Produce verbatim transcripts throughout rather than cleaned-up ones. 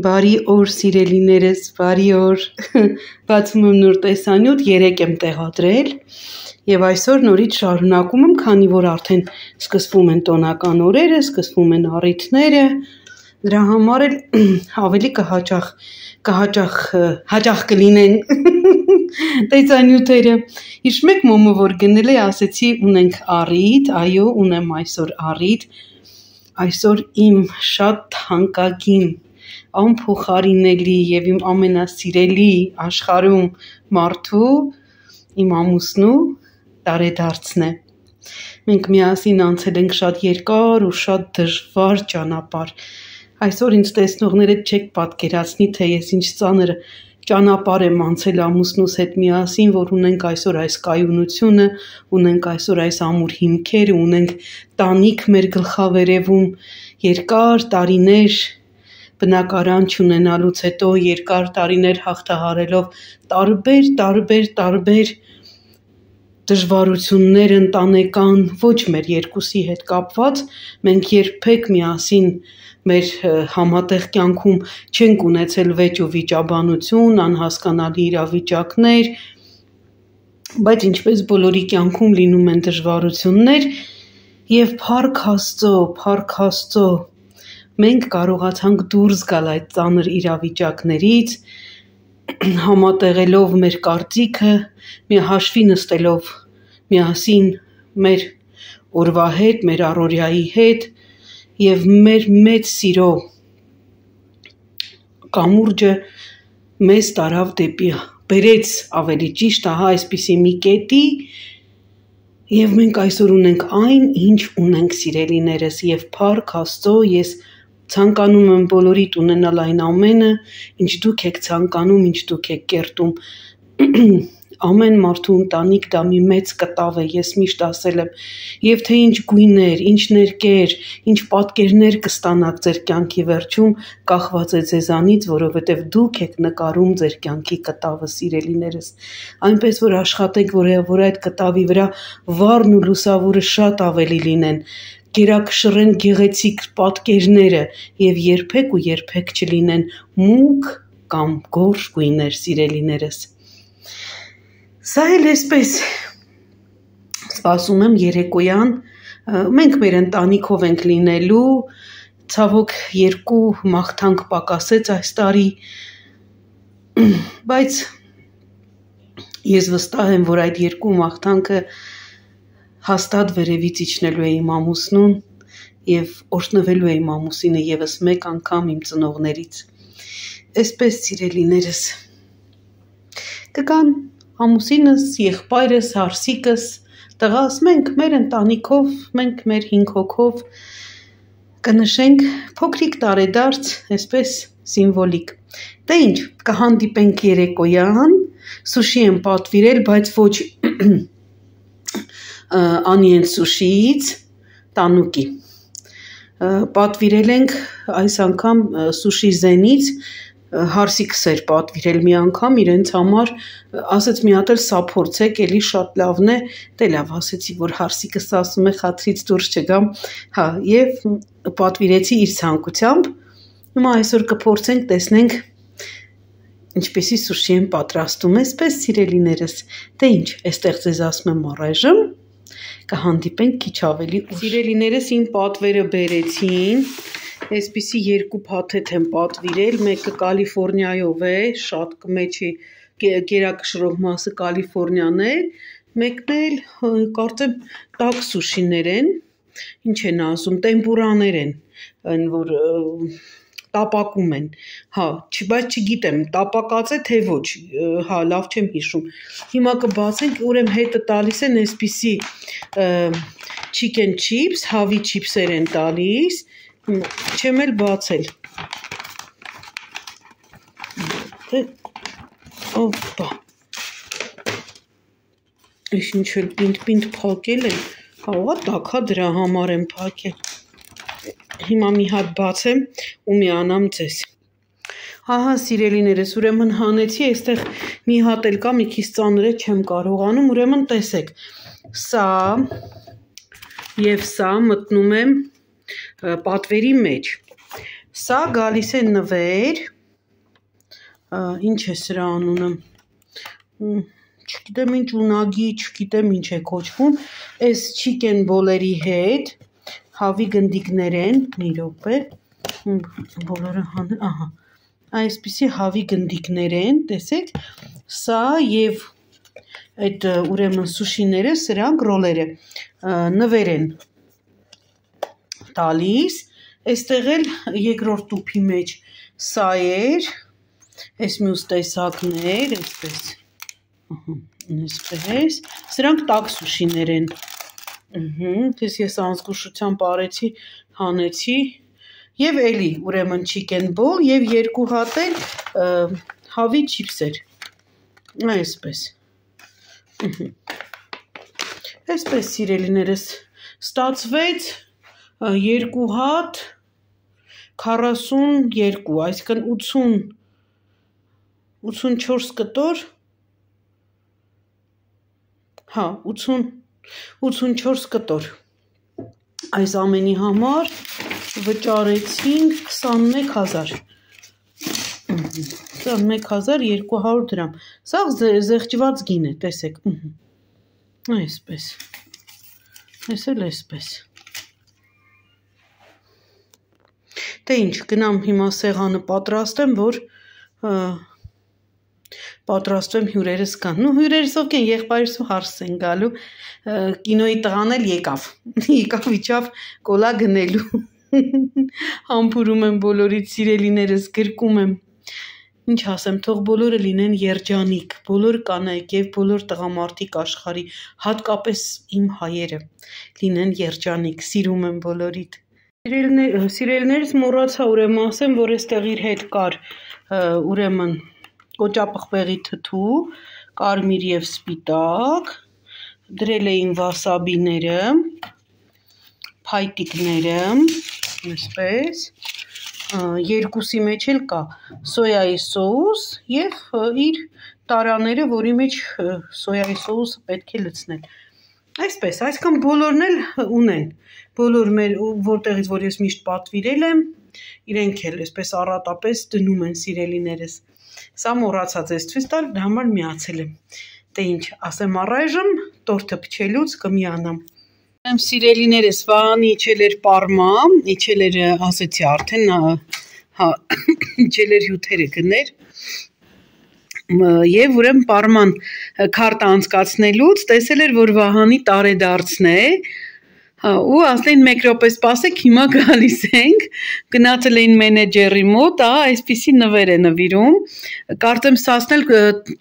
Բարի օր սիրելիներս, բարի օր, բացում եմ նոր տեսանյութ, երեկ եմ տեղադրել և այսօր նորից շարունակում եմ, քանի որ արդեն սկսվում են տոնական օրերը, սկսվում են առիթները, դրա համար էլ ավելի կհաճախ, կհաճախ, հաճախ կլինեն տեսանյութերը, հիշում եք մոմը որ գնել է, ասեցի ունենք առիթ, այո ունեմ այսօր առիթ, այսօր իմ շատ թանկագին անփոխարինելի և իմ ամենասիրելի աշխարհում մարդու, իմ ամուսնու տարեդարձն է։ Մենք միասին անցել ենք շատ երկար ու շատ դժվար ճանապարհ։ Այսօր ինձ տեսնողները չեք պատկերացնի, թե ես ինչ ծանր ճանապարհ եմ անցել ամուսնուս հետ միասին, որ ունենք այսօր այս կայունությունը, ունենք այսօր այս ամուր հիմքերը, ունենք տանիք մեր գլխավերևում, երկար տարիներ բնակարան չունենալուց հետո երկար տարիներ հաղթահարելով տարբեր, տարբեր, տարբեր դժվարություններ ընտանեկան, ոչ մեր երկուսի հետ կապված, մենք երբեք միասին մեր համատեղ կյանքում չենք ունեցել վեճ ու վիճաբանություն, անհասկանալի իրավիճակներ, բայց ինչպես բոլորի կյանքում լինում են դժվարություններ և փառք Աստծո, փառք Աստծո, մենք կարողացանք դուրս գալ այդ ծանր իրավիճակներից, համատեղելով մեր կարծիքը, մի հաշվի նստելով միասին մեր օրվա հետ, մեր առօրյայի հետ և մեր մեծ սիրո կամուրջը մեզ տարավ դեպի, բերեց ավելի ճիշտ, ահա այսպիսի մի կետի և մենք այսօր ունենք այն, ինչ ունենք սիրելիներս և փառք Աստծո, ես ցանկանում եմ բոլորիդ ունենալ այն ամենը, ինչ դուք եք ցանկանում, ինչ դուք եք կերտում, ամեն մարդու ընտանիք դա մի մեծ կտավ է, ես միշտ ասել եմ, և թե ինչ գույներ, ինչ ներկեր, ինչ պատկերներ կստանաք ձեր կյանքի վերջում, կախված է ձեզանից, որովհետև դուք եք նկարում ձեր կյանքի կտավը, սիրելիներս, այնպես որ աշխատեք, որ այդ կտավի վրա վառն ու լուսավորը շատ ավելի լինեն, գերակշռեն գեղեցիկ պատկերները և երբեք ու երբեք չլինեն մուգ կամ գորշ գույներ, սիրելիներս։ Սա էլ այսպես, սպասում եմ երեկոյան, մենք մեր ընտանիքով ենք լինելու, ցավոք երկու մաղթանք պակասեց այս տարի, բայց ես վստահ եմ, որ այդ երկու մաղթանքը հաստատ վերևից իջնելու է իմ ամուսնուն և օրհնվելու է իմ ամուսինը ևս մեկ անգամ իմ ծնողներից։ Այսպես սիրելիներս, կգան ամուսինս, եղբայրս, հարսիկս, տղաս, մենք մեր ընտանիքով, մենք մեր հինգ հոգով կնշենք փոքրիկ տարեդարձ, այսպես սիմվոլիկ։ Դե ինչ, կհանդիպենք երեկոյան, սուշի եմ պատվիրել, բայց ոչ Անի and Sushiից, տանուկի։ Պատվիրել ենք այս անգամ Sushi Zen-ից, հարսիկս էր պատվիրել մի անգամ իրենց համար, ասեց մի հատ էլ սա փորձեք, էլի շատ լավն է, դե լավ ասեցի, որ հարսիկս ասում է խաթրից դուրս չգամ, հա, և պատվիրեցի իր ցանկությամբ, հիմա այսօր կփորձենք, տեսնենք ինչպեսի սուշի եմ պատրաստում, այսպես սիրելիներս, դե ինչ, այստեղ ձեզ ասում եմ առայժմ, կհանդիպենք քիչ ավելի ուշ։ Սիրելիներս իմ պատվերը բերեցին, այսպիսի երկու փաթեթ եմ պատվիրել, մեկը Կալիֆոռնիայով է, շատ կմեջի գերակշռող մասը Կալիֆոռնիան է, մեկն էլ կարծեմ տաք սուշիներ են, ինչ են ասում, տեմպուրաներ են, այն որ տապակում են, հա, բայց չգիտեմ, տապակած է թե ոչ, հա, լավ չեմ հիշում, հիմա կբացենք, ուրեմն հետը տալիս են այսպիսի chicken chips, հավի չիփսեր են տալիս, չեմ էլ բացել, օպա, ես ինչ էլ պինդ-պինդ փակել են, հա, ուղղա տաք, հա, դրա համար եմ փակել, հիմա մի հատ բացեմ ու միանամ ձեզ։ Ահա սիրելիներս, ուրեմն հանեցի, այստեղ մի հատ էլ կա, մի քիչ ծանր է, չեմ կարողանում, ուրեմն տեսեք, սա և սա մտնում եմ պատվերի մեջ, Սա գալիս է նվեր, ինչ է սրա անունը, չգիտեմ ինչ ունագի, չգիտեմ ինչ է կոչվում, այս չիկեն բոլերի հետ, հավի գնդիկներ են, մի րոպե, բոլորը հանել, ահա, այսպիսի հավի գնդիկներ են, տեսեք, սա և այդ ուրեմն սուշիները, սրանք ռոլերը նվեր են տալիս, այստեղ էլ երկրորդ տուփի մեջ սա էր, այս մյուս տեսակներ, այսպես, այսպես, սրանք տաք սուշիներ են, ես ես անզգուշությամբ արեցի, հանեցի, և էլի ուրեմն չիկեն բոլ և երկու հատ էլ հավի չիպսեր, այսպես, այսպես սիրելիներս ստացվեց երկու հատ քառասուն երկու, այսինքն ութսուն ութսունչորս կտոր, հա, ութսունչորս կտոր, այս ամենի համար վճարեցինք քսանմեկ հազար, քսանմեկ հազար երկու հարյուր դրամ, սա զեղչված գին է, տեսեք, այսպես, այս էլ այսպես, դե ինչ, գնամ հիմա սեղանը պատրաստեմ, որ պատրաստվեմ հյուրերս կան, նու հյուրերս ովք են, եղբայրս ու հարսս են գալու, կինոյի տղան էլ եկավ, եկավ իջավ կոլա գնելու, համբուրում եմ բոլորից սիրելիներս, գրկում եմ, ինչ ասեմ, թող բոլորը լինեն երջանիկ, բոլոր կանայք և բոլոր տղամարդիկ աշխարհի, հատկապես իմ հայերը, լինեն երջանիկ, սիրում եմ բոլորիդ, սիրելիներս մոռացա ուրեմն ասեմ, որ այստեղ իր հետ կար ուրեմն կոճապղպեղի թթու, կարմիր և սպիտակ, դրել էին վասաբիները, փայտիկները, այսպես, երկուսի մեջ էլ կա սոյայի սոուս և իր տարաները, որի մեջ սոյայի սոուսը պետք է լցնել, այսպես, այսքան բոլորն էլ ունեն, բոլոր մեր, որտեղից որ ես միշտ պատվիրել եմ, իրենք էլ այսպես առատապես դնում են սիրելիներս, սա մոռացա ձեզ ցույց տալ, դրա համար միացել եմ, դե ինչ, ասեմ առայժմ, տորթը փչելուց կմիանամ, սիրելիներս, Վահանի իջել էր պարմա, իջել էր, ասեցի արդեն, հա, իջել էր հյութերը գներ, և ուրեմն պարման քարտը անցկացնելուց տեսել էր, որ Վահանի տարեդարձն է, ու ասել էին մեկ րոպե սպասեք, հիմա գալիս ենք, գնացել էին մենեջերի մոտ, այսպիսի նվեր է նվիրում, կարծեմ սասն էլ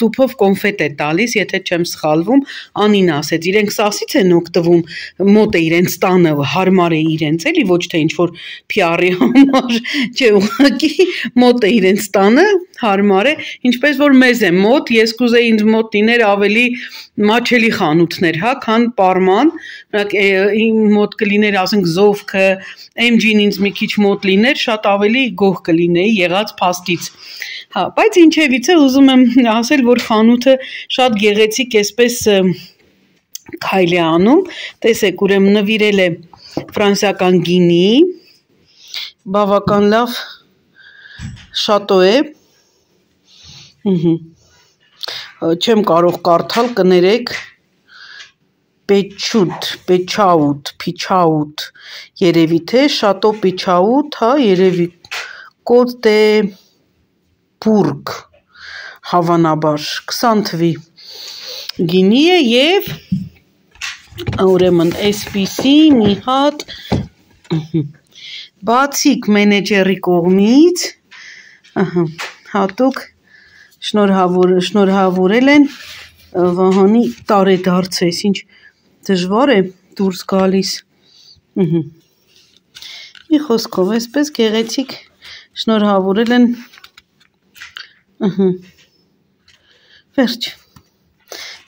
տուփով կոնֆետ է տալիս, եթե չեմ սխալվում, Անին ասեց, իրենք սասից են օգտվում, մոտ է իրենց տանը, հարմար է իրենց, էլի ոչ թե ինչ-որ փի ար-ի համար, չէ ուղղակի մոտ է իրենց տանը, հարմար է, ինչպես որ մեզ է մոտ, ես կուզեի ինձ մոտ լիներ ավելի մաչելի խանութներ, հա, քան պարման, իմ մոտ կլիներ, ասենք զովքը, էմ ջին ինձ մի քիչ մոտ լիներ, շատ ավելի գոհ կլինեի եղած փաստից, հա, բայց ինչևիցե ուզում եմ ասել, որ խանութը շատ գեղեցիկ էսպես քայլ է անում, տեսեք, ուրեմն նվիրել է ֆրանսիական գինի, բավական լավ շատո է, չեմ կարող կարդալ, կներեք, Պեչուտ, Պեչաուտ, Փիչաուտ, երևի թե, շատո Պիչաուտ, հա, երևի, կոտ է բուրգ, հավանաբար, քսան թվի գինի է և ուրեմն այսպիսի մի հատ բացիկ մենեջերի կողմից հատուկ շնորհավորել են Վահանի տարեդարձ է, ինչ դժվար է դուրս գալիս, մի խոսքով այսպես գեղեցիկ շնորհավորել են, վերջ,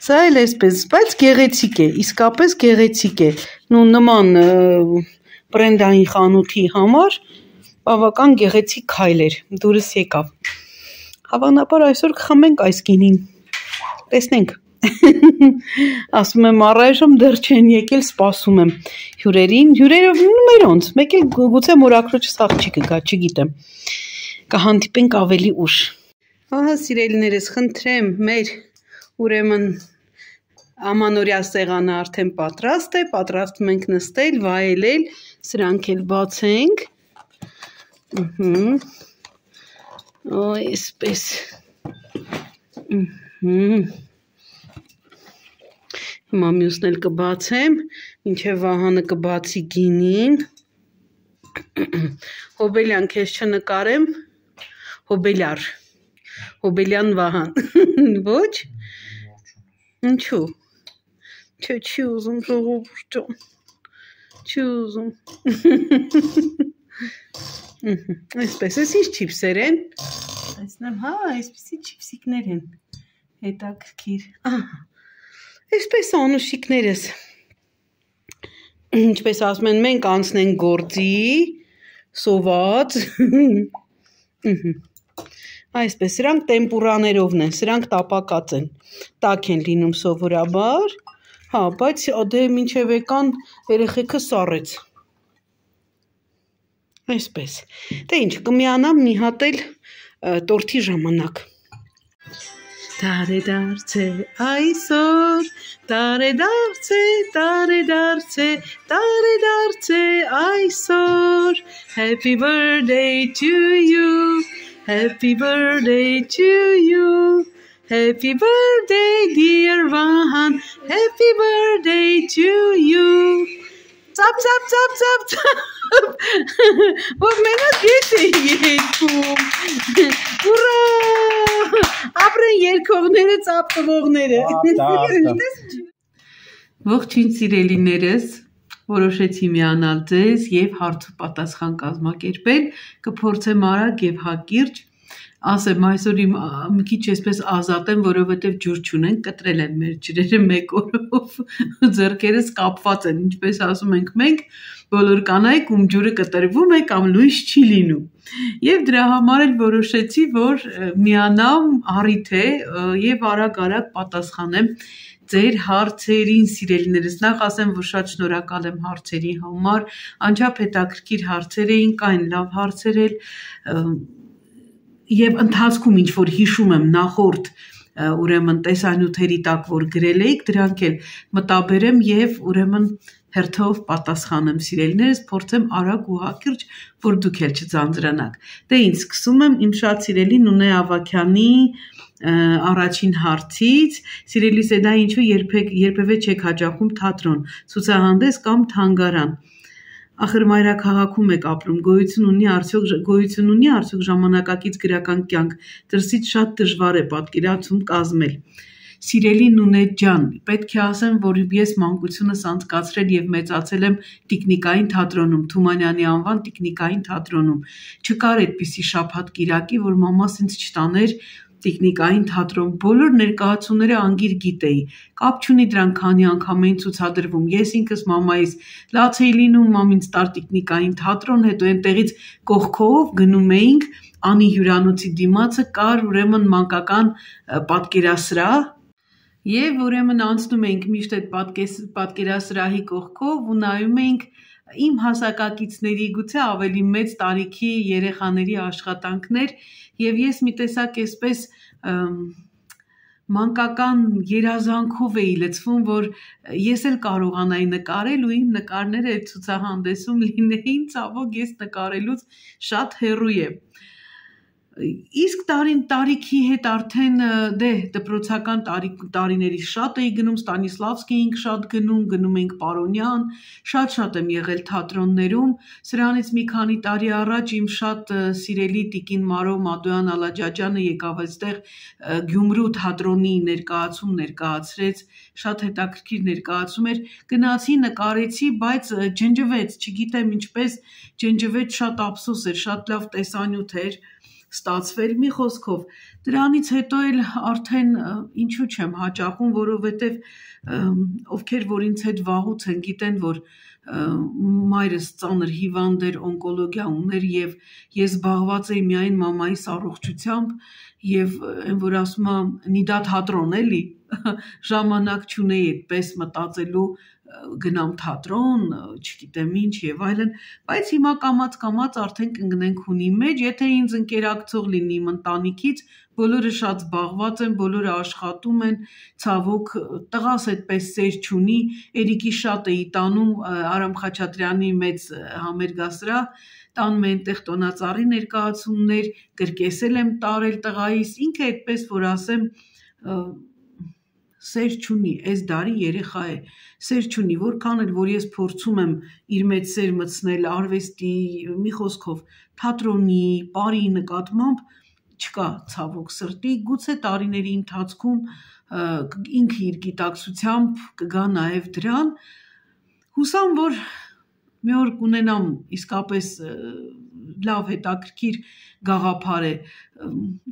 սա էլ այսպես, բայց գեղեցիկ է, իսկապես գեղեցիկ է, նման բրենդային խանութի համար բավական գեղեցիկ քայլ էր, դուրս եկավ, հավանաբար այսօր կխմենք այս գինին, տեսնենք, Ասում եմ առայժմ դեռ չեն եկել, սպասում եմ հյուրերին, հյուրերը մերոնց, մեկ էլ գուցե մորակրոջը սաղ չի կգա, չգիտեմ, կհանդիպենք ավելի ուշ։ Ահա սիրելիներս, խնդրեմ, մեր ուրեմն ամանորյա սեղանը արդեն պատրաստ է, պատրաստում ենք նստել, վայելել, սրանք էլ բացենք։ Այսպես։ Հիմա մյուսն էլ կբացեմ, մինչև Վահանը կբացի գինին։ Հոբելյան, քեզ չնկարեմ, Հոբելյար, Հոբելյան Վահան, ոչ, ինչու, չէ, չի ուզում ժողովուրդը, չի ուզում, այսպես, ես ինչ չիպսեր են, այսնեմ, հա, այսպիսի չիպսիկներ են, հետաքրքիր, այսպես անուշիկներս, ինչպես ասում են, մենք անցնենք գործի, սոված, այսպես, սրանք տեմպուրաներովն են, սրանք տապակած են, տաք են լինում սովորաբար, հա, բայց դե մինչև եկան երեխեքը սառեց, այսպես, դե ինչ, կմիանամ մի հատ էլ տորթի ժամանակ, տարեդարձ է այսօր, տարեդարձ է, տարեդարձ է, տարեդարձ է այսօր, happy birthday to you, happy birthday to you, happy birthday dear Vahan, happy birthday to you, ծապ, ծապ, ծապ, ծապ, ծապ, որ մենակ ես էի երկում, ուրա, ապրեն երկողները, ծապ տվողները, ողջույն սիրելիներս, որոշեցի միանալ ձեզ և հարց ու պատասխան կազմակերպել, կփորձեմ արագ և հակիրճ, ասեմ այսօր իմ մի քիչ այսպես ազատեմ, որովհետև ջուր չունենք, կտրել են մեր ջրերը մեկ օրով, ձեռքերս կապված են, ինչպես ասում ենք մենք, բոլոր կանայք ում ջուրը կտրվում է կամ լույս չի լինում։ Եվ դրա համար էլ որոշեցի, որ միանամ առիթ է և արագ-արագ պատասխանեմ ձեր հարցերին, սիրելիներս, նախ ասեմ, որ շատ շնորհակալ եմ հարցերի համար, անչափ հետաքրքիր հարցեր էին, կային լավ հարցեր էլ, և ընթացքում ինչ որ հիշում եմ նախորդ ուրեմն տեսանյութերի տակ, որ գրել էիք, դրանք էլ մտաբերեմ և ուրեմն հերթով պատասխանեմ սիրելիներս, փորձեմ արագ ու հակիրճ, որ դուք էլ չձանձրանաք։ Դե ինչ, սկսում եմ իմ շատ սիրելի Նունե Ավագյանի առաջին հարցից, սիրելիս է դա ինչու երբևէ չեք հաճախում թատրոն, ցուցահանդես կամ թանգարան։ Ախր մայրաքաղաքում եք ապրում, գոյություն ունի արդյոք ժամանակակից գրական կյանք, դրսից շատ դժվար է պատկերացում կազմել։ Սիրելի Նունե ջան, պետք է ասեմ, որ ես մանկությունս անցկացրել և մեծացել եմ Տիկնիկային թատրոնում, Թումանյանի անվան Տիկնիկային թատրոնում։ Չկար այդպիսի շաբաթ կիրակի, որ մամաս ինձ չտաներ Տիկնիկային թատրոն, բոլոր ներկայացումները անգիր գիտեի, կապ չունի դրան քանի անգամ էին ցուցադրվում, ես ինքս մամայիս լաց էի լինում, մամ ինձ տար Տիկնիկային թատրոն, հետո այնտեղից կողքով գնում էինք, Անի հյուրանոցի դիմացը կար ուրեմն մանկական պատկերասրահ, և ուրեմն անցնում էինք միշտ այդ պատկերասրահի կողքով ու նայում էինք իմ հասակակիցների, գուցե ավելի մեծ տարիքի երեխաների աշխատանքներ և ես մի տեսակ այսպես մանկական երազանքով էի լցվում, որ ես էլ կարողանայի նկարել ու իմ նկարները այդ ցուցահանդեսում լինեին, ցավոք ես նկարելուց շատ հեռու եմ։ Իսկ տարիքի հետ արդեն դե դպրոցական տարիներից շատ էի գնում, Ստանիսլավսկի էինք շատ գնում, գնում էինք Պարոնյան, շատ-շատ եմ եղել թատրոններում, սրանից մի քանի տարի առաջ իմ շատ սիրելի տիկին Մարո Մադոյան Ալաջաջյանը եկավ այստեղ Գյումրու թատրոնի ներկայացում ներկայացրեց, շատ հետաքրքիր ներկայացում էր, գնացի, նկարեցի, բայց ջնջվեց, չգիտեմ ինչպես ջնջվեց, շատ ափսոս էր, շատ լավ տեսանյութ էր ստացվել, մի խոսքով, դրանից հետո էլ արդեն ինչու չեմ հաճախում, որովհետև ովքեր որ ինձ հետ վաղուց են գիտեն, որ մայրս ծանր հիվանդ էր, օնկոլոգիա ուներ եւ ես զբաղված էի միայն մամայիս առողջությամբ եւ այն որ ասում եմ նիդա թատրոն էլի ժամանակ չունեի այդպես մտածելու գնամ թատրոն, չգիտեմ ինչ եւ այլն, բայց հիմա կամած կամած արդեն կընկնենք հունի մեջ, եթե ինձ ընկերակցող լինի իմ ընտանիքից, բոլորը շատ զբաղված են, բոլորը աշխատում են, ցավոք տղաս այդպես սեր չունի, Էրիկի շատ էի տանում Արամ Խաչատրյանի մեծ համերգասրահ, տանում են տեղ տոնածառի ներկայացումներ, կրկեսել եմ տարել տղայիս, ինքը այդպես որ ասեմ սեր չունի, այս դարի երեխա է, սեր չունի, որքան էլ որ ես փորձում եմ իր մեջ սեր մտցնել արվեստի, մի խոսքով թատրոնի, պարի նկատմամբ, չկա ցավոք սրտի, գուցե տարիների ընթացքում ինքը իր գիտակցությամբ կգա նաև դրան, հուսամ, որ մի օր կունենամ իսկապես լավ հետաքրքիր գաղափար է,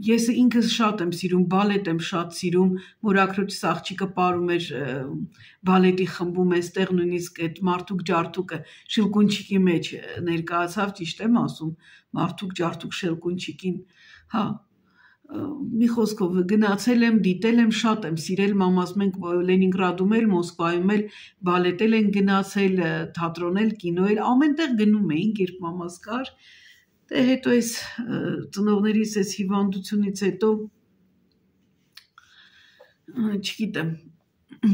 ես ինքս շատ եմ սիրում, բալետ եմ շատ սիրում, մորաքրոջս աղջիկը պարում էր բալետի խմբում էստեղ նույնիսկ այդ մարդուկ ջարդուկը շելկունչիկի մեջ ներկայացավ, ճիշտ եմ ասում, մարդուկ ջարդուկ շելկունչիկին, հա, մի խոսքով գնացել եմ, դիտել եմ, շատ եմ սիրել մամաս, մենք Լենինգրադում էլ, Մոսկվայում էլ բալետել են գնացել, թատրոն էլ, կինո էլ, ամենտեղ գնում էինք, երբ մամաս կար, դե հետո այս ծնողներիս այս հիվանդությունից հետո, չգիտեմ,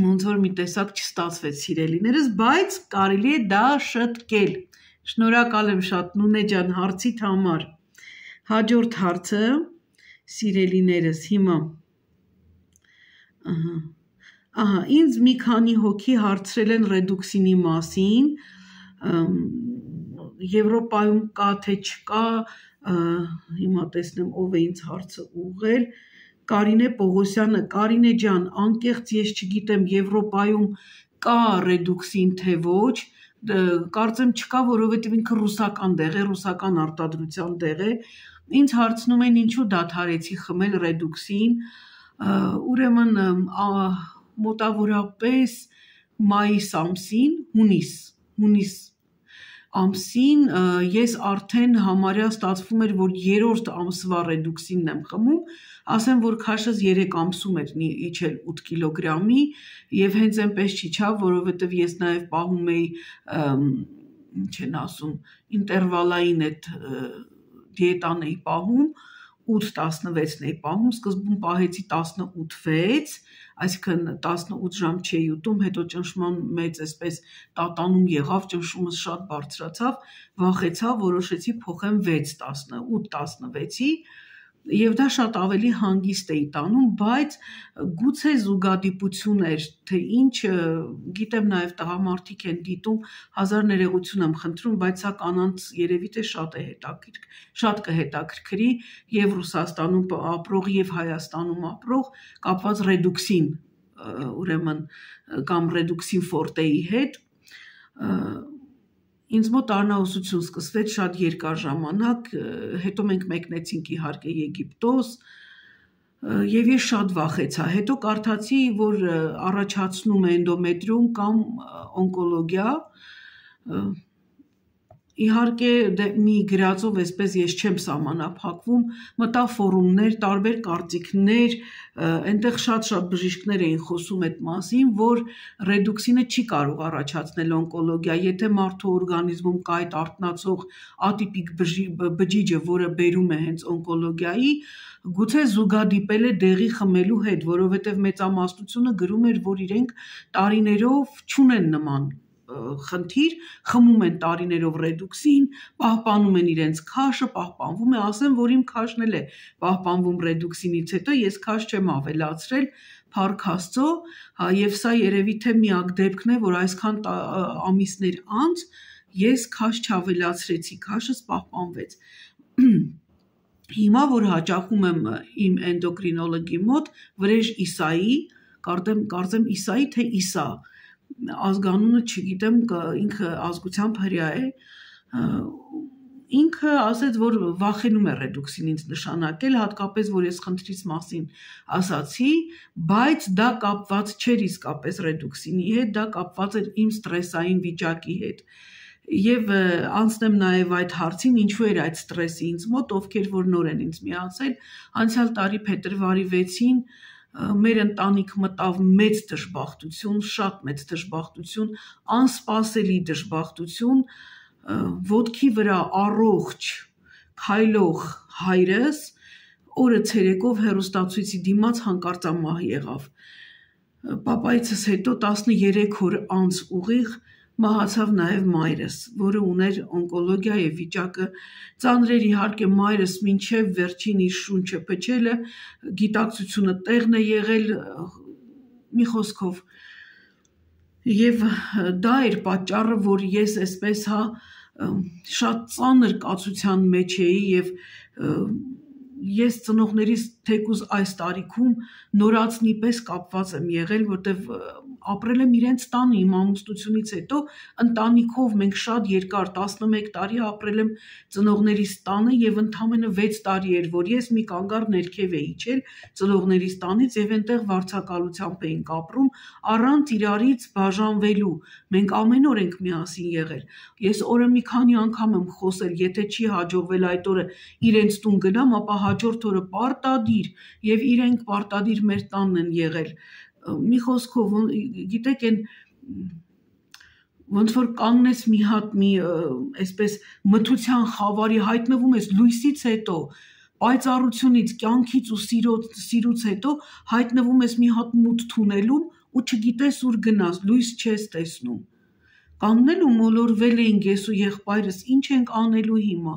ոնց որ մի տեսակ չստացվեց սիրելիներս, բայց կարելի է դա շտկել, շնորհակալ եմ շատ Նունե ջան հարցիդ համար, հաջորդ հարցը, սիրելիներս հիմա, ահա, ինձ մի քանի հոգի հարցրել են ռեդուքսինի մասին, Եվրոպայում կա թե չկա, հիմա տեսնեմ ով է ինձ հարցը ուղղել, Կարինե Պողոսյանը, Կարինե ջան, անկեղծ ես չգիտեմ Եվրոպայում կա ռեդուքսին թե ոչ, կարծեմ չկա, որովհետև ինքը ռուսական դեղ է, ռուսական արտադրության դեղ է, ինձ հարցնում են ինչու դադարեցի խմել ռեդուքսին, ուրեմն մոտավորապես մայիս ամսին, հունիս, հունիս ամսին ես արդեն համարյա ստացվում էր, որ երրորդ ամսվա ռեդուքսինն եմ խմում, ասեմ, որ քաշս երեք ամսում էր իջել ութ կիլոգրամի եւ հենց այնպես չիջավ, որովհետեւ ես նաեւ պահում էի, ինչ են ասում, ինտերվալային այդ դիետան էի պահում, ութ տասնվեցն էի պահում, սկզբում պահեցի տասնութ վեց, այսինքն տասնութ ժամ չէի ուտում, հետո ճնշման մեծ այսպես տատանում եղավ, ճնշումս շատ բարձրացավ, վախեցա, որոշեցի փոխեմ վեց տասնութ տասնվեցի եւ դա շատ ավելի հանգիստ էի տանում, բայց գուցե զուգադիպություն էր, թե ինչ, գիտեմ նաեւ տղամարդիկ են դիտում, հազար ներողություն եմ խնդրում, բայց սա կանանց երևի թե շատ է հետաքրքիր, շատ կհետաքրքրի եւ Ռուսաստանում ապրող եւ Հայաստանում ապրող կապված ռեդուքսին, ուրեմն կամ ռեդուքսին ֆորտեի հետ, ինձ մոտ արնաուսություն սկսվեց շատ երկար ժամանակ, հետո մենք մեկնեցինք իհարկե Եգիպտոս եւ ես շատ վախեցա, հետո կարդացի, որ առաջացնում է էնդոմետրիոմ կամ օնկոլոգիա, իհարկե մի գրածով այսպես ես չեմ սահմանափակվում, մտա ֆորումներ, տարբեր կարծիքներ, այնտեղ շատ-շատ բժիշկներ էին խոսում այդ մասին, որ ռեդուքսինը չի կարող առաջացնել օնկոլոգիա, եթե մարդու օրգանիզմում կա այդ արթնացող ատիպիկ բջիջը, որը բերում է հենց օնկոլոգիայի, գուցե զուգադիպել է դեղի խմելու հետ, որովհետև մեծամասնությունը գրում էր, որ իրենք տարիներով չունեն նման խնդիր, խմում են տարիներով ռեդուքսին, պահպանում են իրենց քաշը, պահպանվում է, ասեմ, որ իմ քաշն էլ է պահպանվում ռեդուքսինից հետո, ես քաշ չեմ ավելացրել, փառք Աստծո, եւ սա երևի թե միակ դեպքն է, որ այսքան ամիսներ անց ես քաշ չավելացրեցի, քաշս պահպանվեց։ Հիմա որ հաճախում եմ իմ էնդոկրինոլոգի մոտ, Վրեժ Իսայի, կարծեմ Իսայի թե Իսա, ազգանունը չգիտեմ, ինքը ազգությամբ հրյա է, ինքը ասեց, որ վախենում է ռեդուքսինից նշանակել, հատկապես, որ ես խնդրից մասին ասացի, բայց դա կապված չէր իսկապես ռեդուքսինի հետ, դա կապված էր իմ ստրեսային վիճակի հետ։ Եվ անցնեմ նաև այդ հարցին, ինչու էր այդ ստրեսը ինձ մոտ, ովքեր որ նոր են ինձ միացել, անցյալ տարի փետրվարի վեցին մեր ընտանիք մտավ մեծ դժբախտություն, շատ մեծ դժբախտություն, անսպասելի դժբախտություն, ոտքի վրա առողջ, քայլող հայրս օրը ցերեկով հեռուստացույցի դիմաց հանկարծամահ եղավ։ Պապայիցս հետո տասներեք օր անց ուղիղ մահացավ նաև մայրս, որը ուներ օնկոլոգիա եւ վիճակը ծանր էր, իհարկե մայրս մինչև վերջին իր շունչը փչելը, գիտակցությունը տեղն է եղել, մի խոսքով, եւ դա էր պատճառը, որ ես այսպես հա շատ ծանր կացության մեջ էի եւ ես ծնողներիս թեկուզ այս տարիքում նորածնի պես կապված եմ եղել, որտեվ ապրել եմ իրենց տանը իմ ամուսնությունից հետո ընտանիքով մենք շատ երկար տասնմեկ տարի ապրել եմ ծնողներիս տանը եւ ընդամենը վեց տարի էր, որ ես մի կանգառ ներքև էի իջել ծնողներիս տանից եւ այնտեղ վարձակալությամբ էինք ապրում առանց իրարից բաժանվելու։ Մենք ամեն օր ենք միասին եղել։ Ես օրը մի քանի անգամ եմ խոսել, եթե չի հաջողվել այդ օրը իրենց տուն գնամ, ապա հաջորդ օրը պարտադիր եւ իրենք պարտադիր մեր տանն են եղել։ Մի խոսքով, գիտեք, այն ոնց որ կանգնես մի հատ մի այսպես մթության խավարի հայտնվում ես լույսից հետո, պայծառությունից, կյանքից ու սիրուց հետո հայտնվում ես մի հատ մութ թունելում ու չգիտես ուր գնաս, լույս չես տեսնում։ Կանգնել ու մոլորվել էինք ես ու եղբայրս, ինչ ենք անելու հիմա։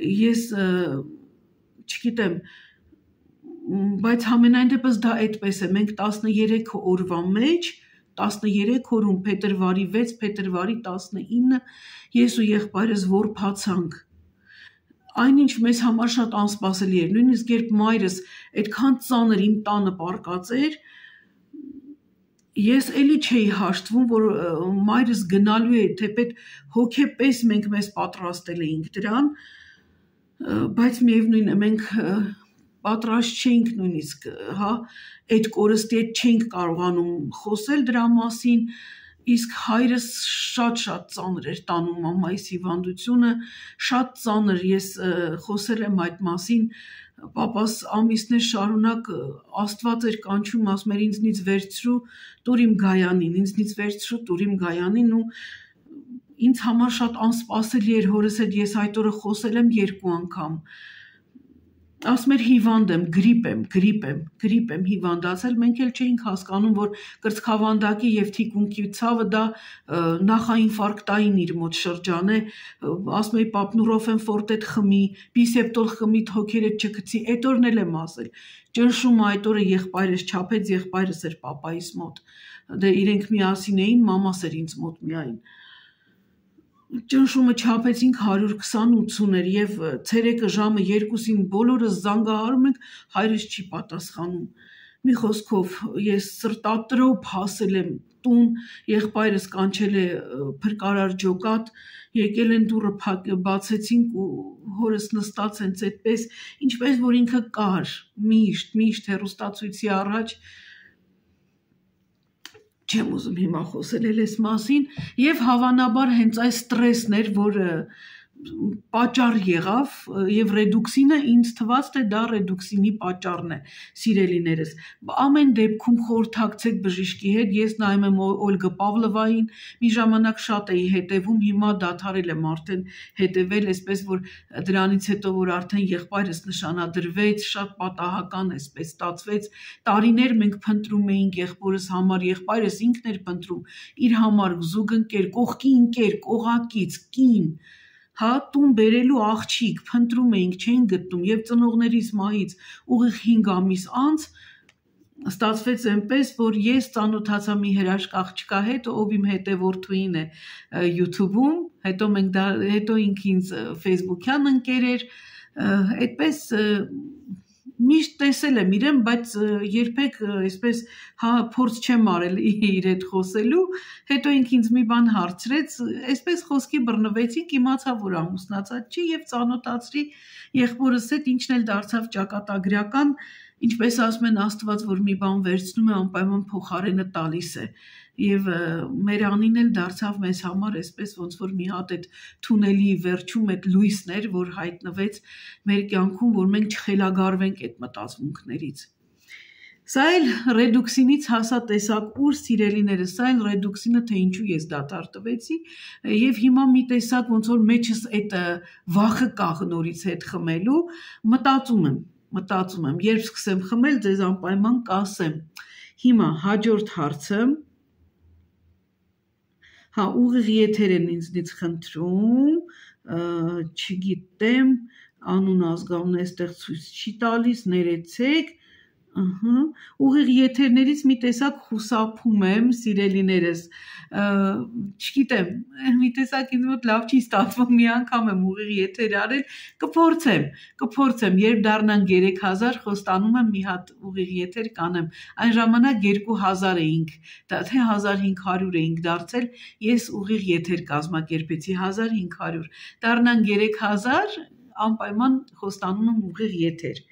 Ես չգիտեմ, բայց համենայն դեպս դա այդպես է, մենք տասներեք օրվա մեջ, տասներեք օրում փետրվարի վեց, փետրվարի տասնինը ես ու եղբայրս որբացանք։ Այնինչ մեզ համար շատ անսպասելի էր, նույնիսկ երբ մայրս այդքան ծանր իմ տանը պառկած էր, ես էլի չէի հաշտվում, որ մայրս գնալու է, թեպետ հոգեպես մենք մեզ պատրաստել էինք դրան, բայց միևնույն է, մենք պատրաստ չէինք նույնիսկ, հա, այդ կորստի հետ չէինք կարողանում խոսել դրա մասին, իսկ հայրս շատ-շատ ծանր էր տանում մամայիս հիվանդությունը, շատ ծանր, ես խոսել եմ այդ մասին, պապաս ամիսներ շարունակ Աստված էր կանչում, ասում էր ինձնից վերցրու, տուր իմ Գայանին, ինձնից վերցրու, տուր իմ Գայանին ու ինձ համար շատ անսպասելի էր հորս հետ, ես այդ օրը խոսել եմ երկու անգամ, ասում էր հիվանդ եմ, գրիպ եմ, գրիպ եմ, գրիպ եմ հիվանդացել, մենք էլ չէինք հասկանում, որ կրծքավանդակի եւ թիկունքի ցավը դա նախաինֆարկտային իր մոտ շրջան է, ասում էի պապնուրոֆեն ֆորտետ խմի, բիսեպտոլ խմի, թոքերդ չգցի, այդ օրն էլ եմ ասել, ճնշումը այդ օրը եղբայրս չափեց, եղբայրս էր պապայիս մոտ, դե իրենք միասին էին, մամաս էր ինձ մոտ միայն, ճնշումը չափեցինք հարյուր քսանութ էր եւ ցերեկը ժամը երկուսին բոլորս զանգահարում ենք, հայրս չի պատասխանում։ Մի խոսքով ես սրտատրոփ հասել եմ տուն, եղբայրս կանչել է փրկարար ջոկատ, եկել են դուռը բացեցինք ու հորս նստած հենց այդպես, ինչպես որ ինքը կար, միշտ, միշտ հեռուստացույցի առաջ չեմ ուզում հիմա խոսել էլ այս մասին եւ հավանաբար հենց այս ստրեսն էր, որը պատճառ եղավ եւ ռեդուքսինը ինձ թվաց թե դա ռեդուքսինի պատճառն է, սիրելիներս։ Ամեն դեպքում խորհրդակցեք բժիշկի հետ, ես նայում եմ Օլգա Պավլովային, մի ժամանակ շատ էի հետևում, հիմա դադարել եմ արդեն հետևել, այսպես որ դրանից հետո որ արդեն եղբայրս նշանադրվեց, շատ պատահական այսպես ստացվեց, տարիներ մենք փնտրում էինք եղբորս համար, եղբայրս ինքն էր փնտրում իր համար զուգընկեր, կողքի ընկեր, կողակից, կին հա տուն բերելու աղջիկ փնտրում էինք, չէին գտնում եւ ծնողներիս մահից ուղիղ հինգ ամիս անց ստացվեց այնպես, որ ես ծանոթացա մի հրաշք աղջկա հետ, ով իմ հետևորդուին է YouTube-ում, հետո մենք դա հետո ինքը ինձ Facebook-յան ընկեր էր, այդպես միշտ տեսել եմ իրեն, բայց երբեք այսպես հա փորձ չեմ արել իր հետ խոսելու, հետո ինքը ինձ մի բան հարցրեց, այսպես խոսքի բռնվեցինք, իմացա, որ ամուսնացած չի եւ ծանոթացրի եղբորս հետ, ինչն էլ դարձավ ճակատագրական, ինչպես ասում են Աստված, որ մի բան վերցնում է, անպայման փոխարենը տալիս է։ Եվ մեր անին էլ դարձավ մեզ համար այսպես ոնց որ մի հատ այդ թունելի վերջում այդ լույսներ, որ հայտնվեց մեր կյանքում, որ մենք չխելագարվենք այդ մտածմունքներից։ Սա էլ ռեդուքսինից հասա տեսակ ուր սիրելիներս, սա էլ ռեդուքսինը, թե ինչու ես դադարտվեցի, եւ հիմա մի տեսակ ոնց որ մեջս այդ վախը կա նորից հետ խմելու, մտածում եմ, մտածում եմ, երբ սկսեմ խմել, ձեզ անպայման կասեմ։ Հիմա հաջորդ հարցը Հա, ուղիղ եթեր են ինձնից խնդրում, չգիտեմ, անուն ազգանուն այստեղ ցույց չի տալիս, ներեցեք, ուղիղ եթերներից մի տեսակ խուսափում եմ, սիրելիներս, չգիտեմ, մի տեսակ ինձ մոտ լավ չի ստացվում, մի անգամ եմ ուղիղ եթեր արել, կփորձեմ, կփորձեմ, երբ դառնանք երեք հազար, խոստանում եմ մի հատ ուղիղ եթեր կանեմ, այն ժամանակ երկու հազար էինք, թե հազար հինգ հարյուր էինք դարձել, ես ուղիղ եթեր կազմակերպեցի, հազար հինգ հարյուր, դառնանք երեք հազար, անպայման խոստանում եմ ուղիղ եթեր։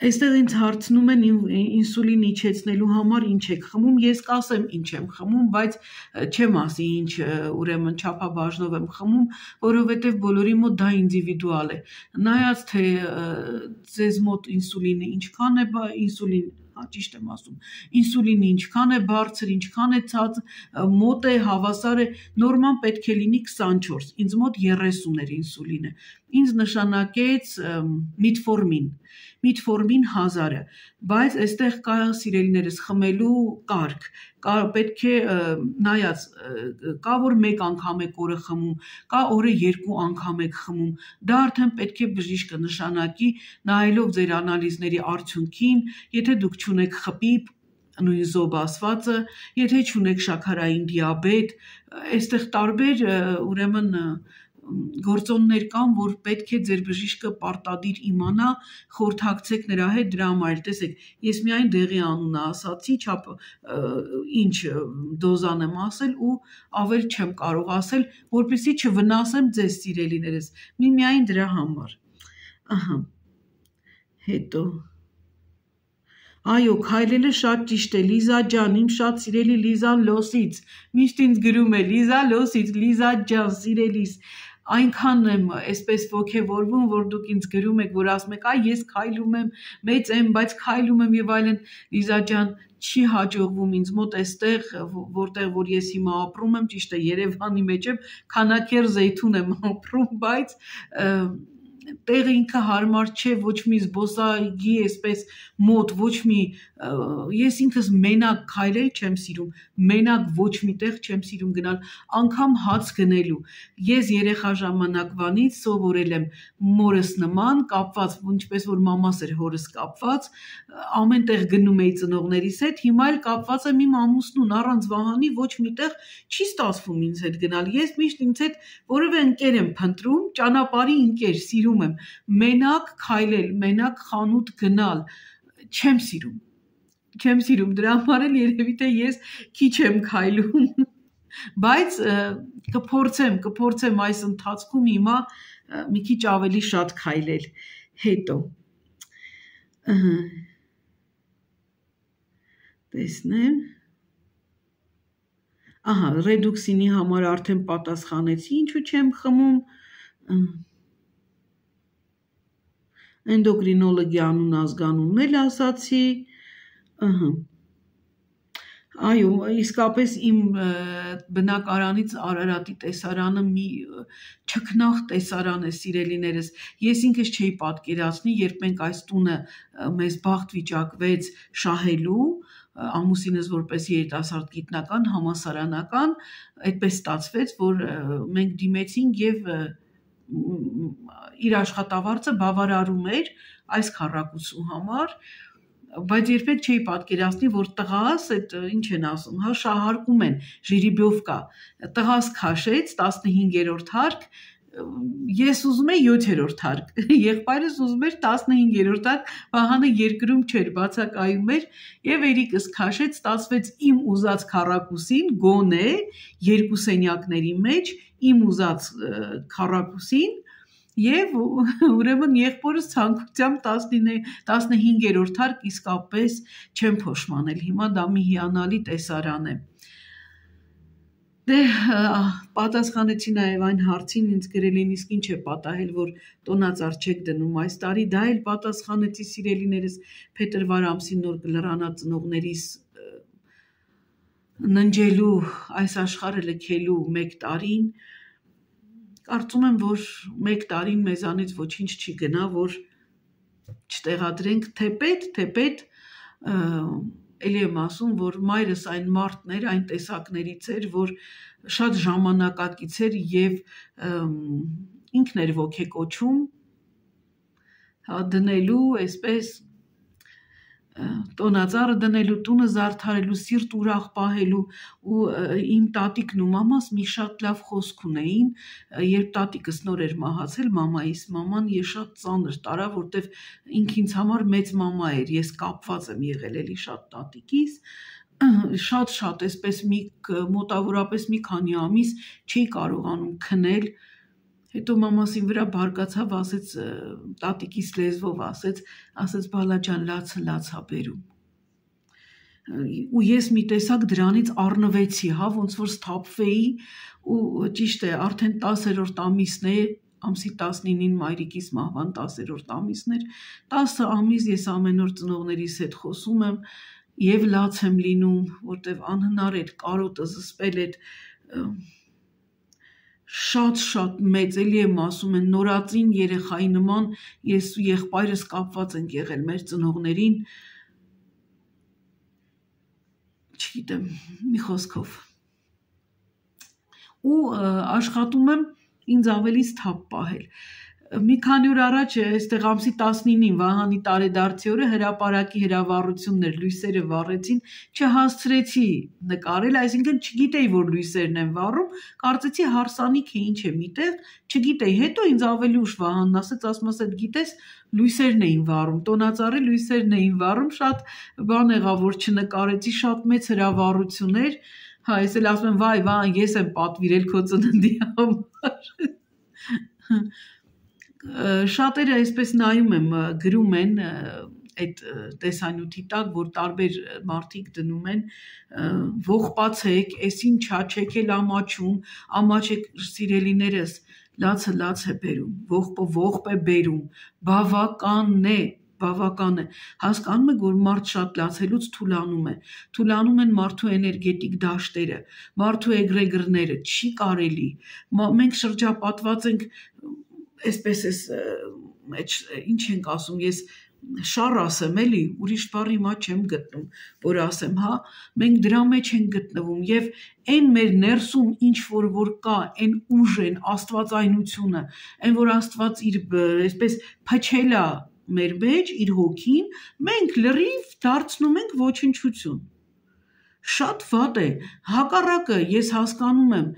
Այստեղ ինձ հարցնում են ինսուլին իջեցնելու համար ինչ եք խմում, ես կասեմ ինչ եմ խմում, բայց չեմ ասի ինչ ուրեմն չափաբաժնով եմ խմում, որովհետև բոլորի մոտ դա ինդիվիդուալ է։ Նայած թե ձեզ մոտ ինսուլինը ինչքան է, ինսուլին հա ճիշտ եմ ասում, ինսուլինը ինչքան է բարձր, ինչքան է ցած, մոտ է, հավասար է, նորմալ պետք է լինի քսանչորս, ինձ մոտ երեսուն էր ինսուլինը, ինձ նշանակեց միտֆորմին, միտֆորմին հազարը, բայց այստեղ կա սիրելիներս խմելու կարգ, պետք է նայած, կա որ մեկ անգամ եք օրը խմում, կա օրը երկու անգամ եք խմում, դա արդեն պետք է բժիշկը նշանակի, նայելով ձեր անալիզների արդյունքին, եթե դուք չունեք խպի, նույն զոբ ասվածը, եթե չունեք շաքարային դիաբետ, այստեղ տարբեր ուրեմն գործոններ կան, որ պետք է ձեր բժիշկը պարտադիր իմանա, խորհրդակցեք նրա հետ դրա համար, տեսեք, ես միայն դեղի անունը ասացի, չափ ինչ դոզան եմ ասել ու ավել չեմ կարող ասել, որպեսզի չվնասեմ ձեզ սիրելիներս, մի միայն դրա համար։ Ահա, հետո Այո, քայլելը շատ ճիշտ է, Լիզա ջան, իմ շատ սիրելի Լիզան Լոսից, միշտ ինձ գրում է, Լիզա Լոսից, Լիզա ջան, սիրելիս, այնքան եմ այսպես ոգևորվում, որ դուք ինձ գրում եք, որ ասում եք, այ ես քայլում եմ, մեծ եմ, բայց քայլում եմ եւ այլն, Լիզա ջան, չի հաջողվում ինձ մոտ այստեղ, որտեղ որ ես հիմա ապրում եմ, ճիշտ է, Երևանի մեջ եմ, քանակեր Զեյթուն եմ ապրում, բայց տեղը ինքը հարմար չէ, ոչ մի զբոսայգի այսպես մոտ, ոչ մի, ես ինքս մենակ քայլել չեմ սիրում, մենակ ոչ մի տեղ չեմ սիրում գնալ, անգամ հաց գնելու, ես երեխա ժամանակվանից սովորել եմ մորս նման, կապված, ինչպես որ մամաս էր հորս կապված, ամեն տեղ գնում էի ծնողներիս հետ, հիմա էլ կապված եմ իմ ամուսնուն, առանց Վահանի ոչ մի տեղ չի ստացվում ինձ հետ գնալ, ես միշտ ինձ հետ որևէ ընկեր եմ փնտրում, ճանապարհի ընկեր, սիրում եմ, մենակ քայլել, մենակ խանութ գնալ, չեմ սիրում, չեմ սիրում, դրա համար էլ երևի թե ես քիչ եմ քայլում, բայց կփորձեմ, կփորձեմ այս ընթացքում հիմա մի քիչ ավելի շատ քայլել, հետո, տեսնեմ, ահա, ռեդուքսինի համար արդեն պատասխանեցի, ինչու չեմ խմում, Էնդոկրինոլոգի անուն ազգանունն էլ ասացի, այո, իսկապես իմ բնակարանից Արարատի տեսարանը մի չքնաղ տեսարան է սիրելիներս, ես ինքս չէի պատկերացնի, երբ մենք այս տունը մեզ բախտ վիճակվեց շահելու, ամուսինս որպես երիտասարդ գիտնական, համասարանական, այդպես ստացվեց, որ մենք դիմեցինք եւ իր աշխատավարձը բավարարում էր այս քառակուսու համար, բայց երբեք չէի պատկերացնի, որ տղաս, այդ ինչ են ասում, հա շահարկում են, ժիրիբյովկա, տղաս քաշեց տասնհինգերորդ հարկ, ես ուզում եի յոթերորդ հարկ, եղբայրս ուզում էր տասնհինգերորդ հարկ, Վահանը երկրում չէր, բացակայում էր եւ երիկս քաշեց, ստացվեց իմ ուզած քառակուսին, գոնե երկու սենյակների մեջ իմ ուզած քառակուսին եւ ուրեմն եղբորս ցանկությամբ տասնհինգերորդ հարկ իսկապես չեմ փոշմանել, հիմա դա մի հիանալի տեսարան է։ Դե պատասխանեցի նաև այն հարցին, ինձ գրել են իսկ ինչ է պատահել, որ տոնածառ չեք դնում այս տարի, դա էլ պատասխանեցի սիրելիներս փետրվար ամսին նոր կլրանա ծնողներիս ննջելու, այս աշխարհը լքելու մեկ տարին, կարծում եմ, որ մեկ տարին մեզանից ոչինչ չի գնա, որ չտեղադրենք թե պետ, թե պետ, Էլի եմ ասում, որ մայրս այն մարդն էր, այն տեսակներից էր, որ շատ ժամանակակից էր և ինքն էր ոգեկոչում դնելու, այսպես տոնածառը դնելու, տունը զարդարելու, սիրտ ուրախ պահելու ու իմ տատիկն ու մամաս մի շատ լավ խոսք ունեին, երբ տատիկս նոր էր մահացել, մամայիս մաման ես շատ ծանր տարա, որտև ինք ինձ համար մեծ մամա էր, ես կապված եմ եղել էլի շատ տատիկիս, շատ-շատ այսպես մի մոտավորապես մի քանի ամիս չի կարողանում քնել, հետո մամասին վրա բարկացավ, ասեց տատիկիս լեզվով, ասեց, ասեց բալա ջան, լացը լացա բերում։ Ու ես մի տեսակ դրանից առնվեցի, հա, ոնց որ սթափվեի ու ճիշտ է, արդեն տասերորդ ամիսն է, ամսի տասնինին մայրիկիս մահվան տասերորդ ամիսն էր, տասը ամիս ես ամեն օր ծնողներիս հետ խոսում եմ և լաց եմ լինում, որտև անհնար էր, կարոտը զսպել էր, շատ-շատ մեծ, էլի եմ ասում են, նորածին երեխայի նման ես ու եղբայրս կապված ենք եղել մեր ծնողներին, չգիտեմ, մի խոսքով։ Ու աշխատում եմ ինձ ավելի սթափ պահել։ Մի քանի օր առաջ այստեղ ամսի տասնինին Վահանի տարեդարձի օրը հրապարակի հրավառությունն էր, լույսերը վառեցին, չհասցրեցի նկարել, այսինքն չգիտեի, որ լույսերն են վառում, կարծեցի հարսանիք է, ինչ է միտեղ, չգիտեի, հետո ինձ ավելի ուշ Վահանն ասեց, ասում ասեց, գիտես, լույսերն էին վառում, տոնածառի լույսերն էին վառում, շատ բան եղավ, որ չնկարեցի, շատ մեծ հրավառություն էր, հա, ես էլ ասում եմ, վայ, Վահան, ես եմ պատվիրել քո ծննդի համար։ Շատերը այսպես նայում եմ, գրում են այդ տեսանյութի տակ, որ տարբեր մարդիկ դնում են, ողբացեք, ես ինչա, չեք էլ ամաչում, ամաչեք սիրելիներս, լացը լաց է բերում, ողբը ողբ է բերում, բավական է, բավական է, հասկանում եք, որ մարդ շատ լացելուց թուլանում է, թուլանում են մարդու էներգետիկ դաշտերը, մարդու էգրեգրները, չի կարելի, մենք շրջապատված ենք, այսպես ես, ինչ ենք ասում, ես շար ասեմ էլի, ուրիշ բառ հիմա չեմ գտնում, որ ասեմ, հա, մենք դրա մեջ ենք գտնվում և այն մեր ներսում ինչ որ որ կա, այն ուժն, աստվածայնությունը, այն որ աստված իր այսպես փչել է մեր մեջ, իր հոգին, մենք լրիվ դարձնում ենք ոչնչություն, շատ վատ է, հակառակը ես հասկանում եմ,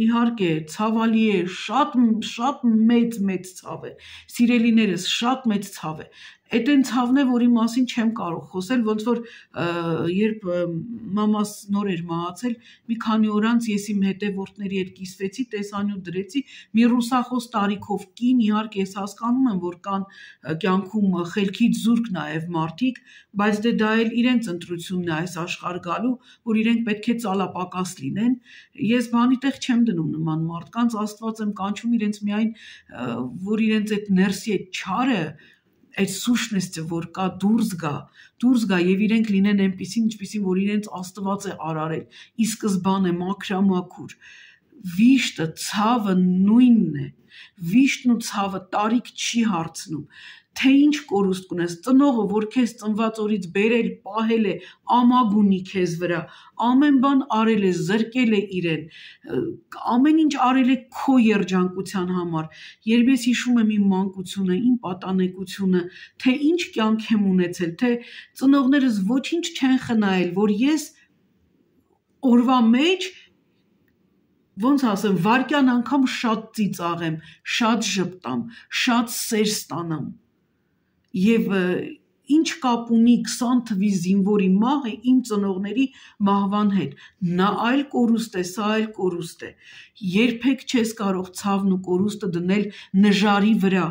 իհարկե, ցավալի է, շատ, շատ մեծ, մեծ ցավ է, սիրելիներս, շատ մեծ ցավ է, այդ այն ցավն է, որի մասին չեմ կարող խոսել, ոնց որ երբ մամաս նոր էր մահացել, մի քանի օր անց ես իմ հետևորդների հետ կիսվեցի, տեսանյութ դրեցի, մի ռուսախոս տարիքով կին, իհարկե ես հասկանում եմ, որ կան կյանքում խելքից զուրկ նաև մարդիկ, բայց դե դա էլ իրենց ընտրությունն է այս աշխարհ գալու, որ իրենք պետք է ծալապակաս լինեն, ես բանի տեղ չեմ դնում նման մարդկանց, Աստված եմ կանչում իրենց միայն, որ իրենց այդ ներսի այդ չարը այդ սուշնեսը, որ կա դուրս գա, դուրս գա և իրենք լինեն այնպիսին, ինչպիսին, որ իրենց Աստված է արարել, ի սկզբանե մաքրամաքուր, վիշտը, ցավը նույնն է, վիշտն ու ցավը տարիք չի հարցնում, թե ինչ կորուստ կունես, ծնողը, որ քեզ ծնված օրից բերել, պահել է, ամագ ունի քեզ վրա, ամեն բան արել է, զրկել է իրեն, ամեն ինչ արել է քո երջանկության համար, երբ ես հիշում եմ իմ մանկությունը, իմ պատանեկությունը, թե ինչ կյանք եմ ունեցել, թե ծնողներս ոչինչ չեն խնայել, որ ես օրվա մեջ ոնց ասեմ, վարկյան անգամ շատ ծիծաղեմ, շատ ժպտամ, շատ սեր ստանամ։ Եվ ինչ կապ ունի քսան թվի զինվորի մահը իմ ծնողների մահվան հետ։ Նա այլ կորուստ է, սա այլ կորուստ է։ Երբեք չես կարող ցավն ու կորուստը դնել նժարի վրա։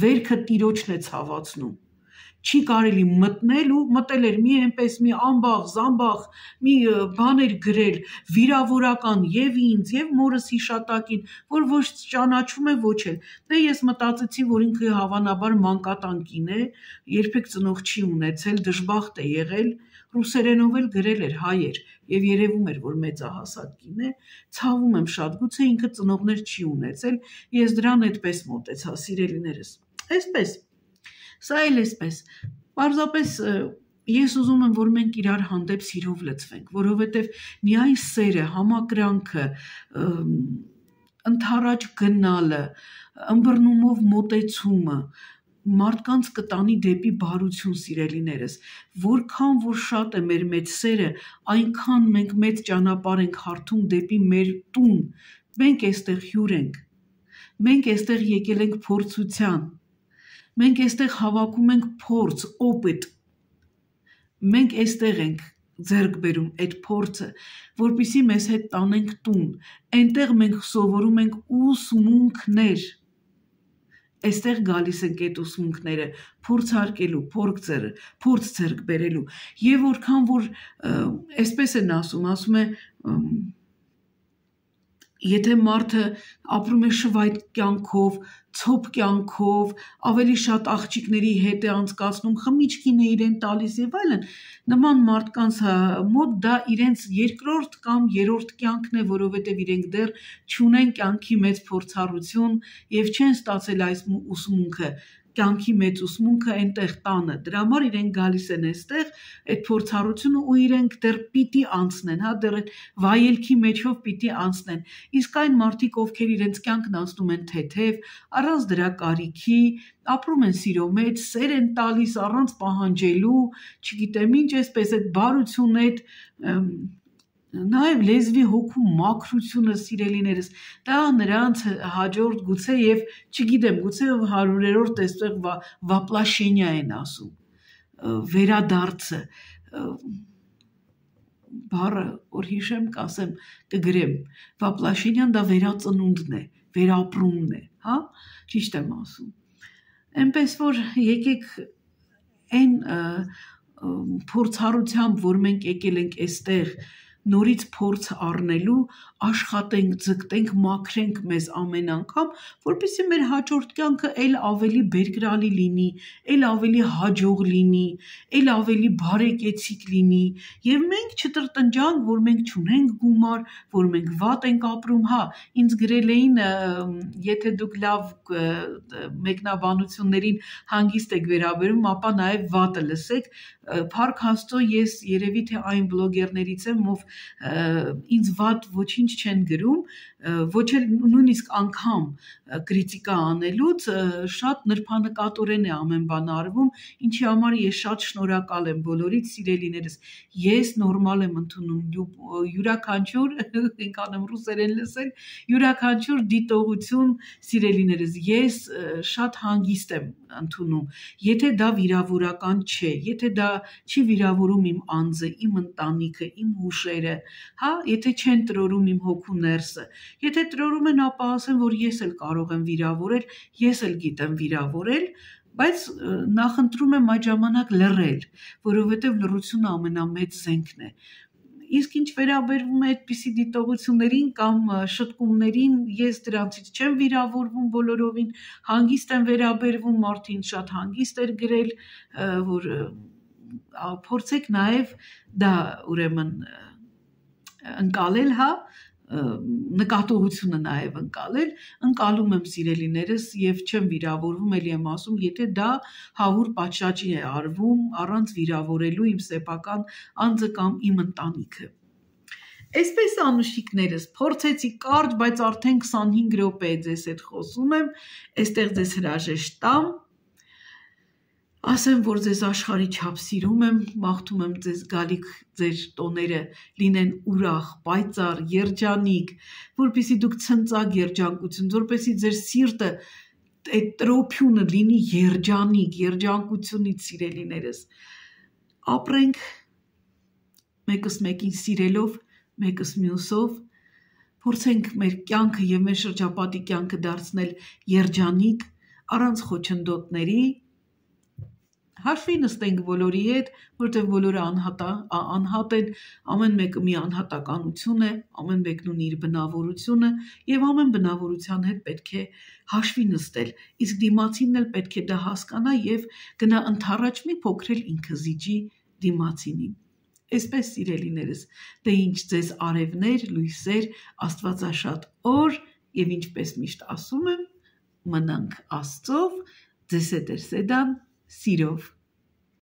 Վերքը տիրոջն է ցավացնում։ Չի կարելի մտնել ու մտել էր մի այնպես մի ամբաղ, զամբաղ, մի բաներ գրել, վիրավորական եւ ինձ, եւ մորս հիշատակին, որ ոչ ճանաչում է, ոչ էլ։ Դե ես մտածեցի, որ ինքը հավանաբար մանկատանկին է, երբեք ծնող չի ունեցել, դժբախտ է եղել, ռուսերենով էլ գրել էր, հայ էր, եւ երևում էր, որ մեծահասակ կին է, ցավում եմ շատ, գուցե ինքը ծնողներ չի ունեցել, ես դրան այդպես մոտեցա, սիրելիներս, այսպես, սա էլ այսպես, պարզապես ես ուզում եմ, որ մենք իրար հանդեպ սիրով լցվենք, որովհետև միայն սերը, համակրանքը, ընդառաջ գնալը, ըմբռնումով մոտեցումը, մարդկանց կտանի դեպի բարություն, սիրելիներս, որքան որ շատ է մեր մեծ սերը, այնքան մենք մեծ ճանապարհ ենք հարթում դեպի մեր տուն, մենք այստեղ հյուր ենք, մենք այստեղ եկել ենք փորձության, մենք այստեղ հավաքում ենք փորձ, օպիտ, մենք այստեղ ենք ձեռք բերում այդ փորձը, որպեսզի մեզ հետ տանենք տուն, այնտեղ մենք սովորում ենք ուսմունքներ, այստեղ գալիս ենք այդ ուսմունքները փորձարկելու, փորձ ձեռք բերելու, եւ որքան որ այսպես են ասում, ասում է եթե մարդը ապրում է շվայտ կյանքով, ցոփ կյանքով, ավելի շատ աղջիկների հետ է անցկացնում, խմիչքին է իրեն տալիս եւ այլն, նման մարդկանց մոտ դա իրենց երկրորդ կամ երրորդ կյանքն է, որովհետեւ իրենք դեռ չունեն կյանքի մեծ փորձառություն եւ չեն ստացել այս ուսմունքը, կյանքի մեծ ուսմունքը այնտեղ տանը, դրա համար իրենք գալիս են այստեղ այդ փորձառությունը ու իրենք դեռ պիտի անցնեն, հա, դեռ այդ վայելքի մեջով պիտի անցնեն, իսկ այն մարդիկ, ովքեր իրենց կյանքն անցնում են թեթև, առանց դրա կարիքի, ապրում են սիրո մեջ, սեր են տալիս առանց պահանջելու, չգիտեմ ինչ, այսպես այդ բարությունը, այդ նաև լեզվի հոգու մաքրությունը, սիրելիներս, դա նրանց հաջորդ գուցե եւ չգիտեմ, գուցե հարյուրերորդ այստեղ վապլաշենյա են ասում, վերադարձը, բառը, որ հիշեմ, կասեմ, կգրեմ, վապլաշենյան դա վերածնունդն է, վերապրումն է, հա, ճիշտ եմ ասում, այնպես որ եկեք այն փորձառությամբ, որ մենք եկել ենք այստեղ, նորից փորձ առնելու, աշխատենք, ձգտենք, մաքրենք մեզ ամեն անգամ, որպեսզի մեր հաջորդ կյանքը էլ ավելի բերկրալի լինի, էլ ավելի հաջող լինի, էլ ավելի բարեկեցիկ լինի, եւ մենք չտրտնջանք, որ մենք չունենք գումար, որ մենք վատ ենք ապրում, հա, ինձ գրել էին, եթե դուք լավ մեկնաբանություններին հանգիստ եք վերաբերում, ապա նաեւ վատը լսեք, փառք Աստծո, ես երևի թե այն բլոգերներից եմ, ով ինձ վատ ոչինչ չեն գրում, ոչ էլ նույնիսկ անգամ կրիտիկա անելուց շատ նրբանկատորեն է ամեն բան արվում, ինչի համար ես շատ շնորհակալ եմ բոլորից, սիրելիներս, ես նորմալ եմ ընդունում, յուրաքանչյուր, ինքան եմ ռուսերեն լսել, յուրաքանչյուր դիտողություն, սիրելիներս, ես շատ հանգիստ եմ ընդունում, եթե դա վիրավորական չէ, եթե դա չի վիրավորում իմ անձը, իմ ընտանիքը, իմ հուշերը, հա, եթե չեն տրորում իմ հոգու ներսը, եթե տրորում են, ապա ասեմ, որ ես էլ կարող եմ վիրավորել, ես էլ գիտեմ վիրավորել, բայց նախընտրում եմ այդ ժամանակ լռել, որովհետև լռությունը ամենամեծ զենքն է։ Իսկ ինչ վերաբերվում է այդպիսի դիտողություններին կամ շտկումներին, ես դրանցից չեմ վիրավորվում բոլորովին, հանգիստ եմ վերաբերվում, մարդին շատ հանգիստ էր գրել, որ փորձեք նաև դա ուրեմն ընկալել, հա, նկատողությունը նաև ընկալել, ընկալում եմ սիրելիներս եւ չեմ վիրավորվում, ելի եմ ասում, եթե դա հավուր պատշաճի է արվում առանց վիրավորելու իմ սեփական անձը կամ իմ ընտանիքը։ Այսպես անուշիկներս, փորձեցի կարճ, բայց արդեն քսանհինգ րոպե է ձեզ հետ խոսում եմ, այստեղ ձեզ հրաժեշտ տամ։ Ասեմ, որ ձեզ աշխարհի չափ սիրում եմ, մաղթում եմ ձեզ գալիք ձեր տոները լինեն ուրախ, պայծառ, երջանիկ, որպեսզի դուք ցնծակ երջանկություն, որպեսզի ձեր սիրտը այդ տրոփյունը լինի երջանիկ, երջանկությունից սիրելիներս։ Ապրենք մեկս մեկին սիրելով, մեկս մյուսով, փորձենք մեր կյանքը եւ մեր շրջապատի կյանքը դարձնել երջանիկ, առանց խոչընդոտների, հաշվի նստենք բոլորի հետ, որտեղ բոլորը անհատ, անհատ են, ամեն մեկը մի անհատականություն է, ամեն մեկն ունի իր բնավորությունը եւ ամեն բնավորության հետ պետք է հաշվի նստել, իսկ դիմացինն էլ պետք է դա հասկանա եւ գնա ընդառաջ մի փոքր ինքը զիջի դիմացինին։ Այսպես սիրելիներս, դե ինչ ձեզ արևներ, լույսեր, աստվածաշատ օր եւ ինչպես միշտ ասում եմ, մնանք Աստծով, ձեզ հետ է Սեդան, սիրով